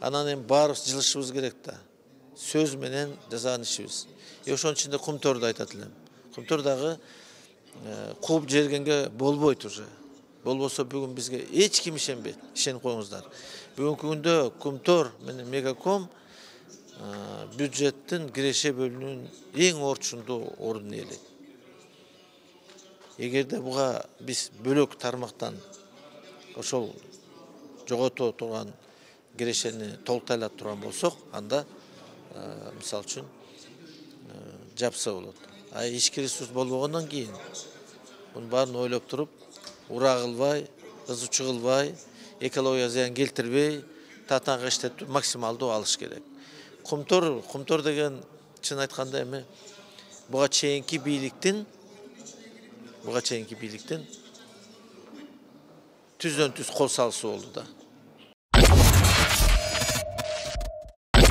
Анан эми баарыбыз жылышыбыз керек да. Сөз менен жасаган ишибиз. Ошонун ичинде Кумторду айтат элем. Кумтор дагы кууп жергенге болбойт уже. Болбосо бүгүн бизге эч ким ишенбейт. Ишенип коюңуздар. Бүгүнкү күндө Кумтор менен Мегаком бюджеттин киреше бөлүнүүнүн эң орчундуу ордун ээлейт. Эгерде буга биз бөлөк тармактан ошол жогото турган кирешени толуктайлап турган болсок, анда мисалы үчүн жапса болот. А ички ресурс болбогондон кийин мунун баарын ойлоп туруп, ура кылбай, ызы-чуу кылбай, экологияга зыян келтирбей, татаанга иштетип максималдуу алыш керек. Кумтор деген чын айтканда эми буга чейинки бийликтин түздөн түз кол салысы болду да.